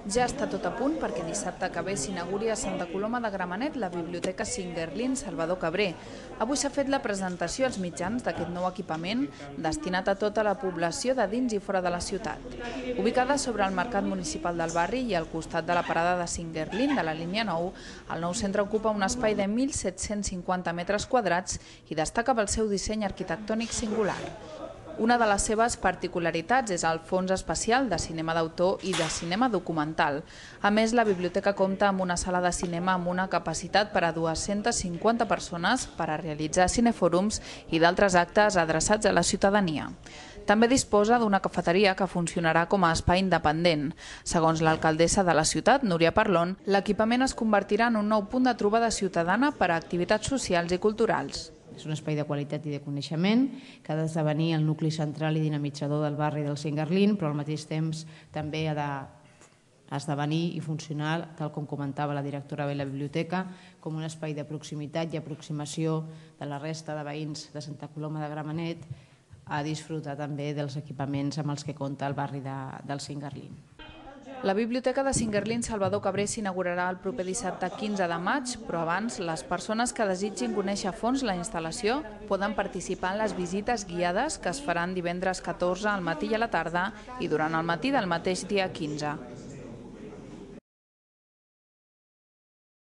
Ja està tot a punt perquè dissabte que ve s'inauguri a Santa Coloma de Gramenet la Biblioteca Singuerlín Salvador Cabré. Avui s'ha fet la presentació als mitjans d'aquest nou equipament destinat a tota la població de dins i fora de la ciutat. Ubicada sobre el mercat municipal del barri i al costat de la parada de Singuerlín de la línia 9, el nou centre ocupa un espai de 1.750 metres quadrats i destaca pel seu disseny arquitectònic singular. Una de les seves particularitats és el fons especial de cinema d'autor i de cinema documental. A més, la biblioteca compta amb una sala de cinema amb una capacitat per a 250 persones per a realitzar cinefòrums i d'altres actes adreçats a la ciutadania. També disposa d'una cafeteria que funcionarà com a espai independent. Segons l'alcaldessa de la ciutat, Núria Parlon, l'equipament es convertirà en un nou punt de trobada ciutadana per a activitats socials i culturals. És un espai de qualitat i de coneixement que ha d'esdevenir el nucli central i dinamitzador del barri del Singuerlín, però al mateix temps també ha d'esdevenir i funcionar, tal com comentava la directora de la biblioteca, com un espai de proximitat i aproximació de la resta de veïns de Santa Coloma de Gramenet a disfrutar també dels equipaments amb els que compta el barri del Singuerlín. La Biblioteca de Singuerlín Salvador Cabré s'inaugurarà el proper dissabte 15 de maig, però abans les persones que desitgin conèixer a fons la instal·lació poden participar en les visites guiades que es faran divendres 14 al matí i a la tarda i durant el matí del mateix dia 15.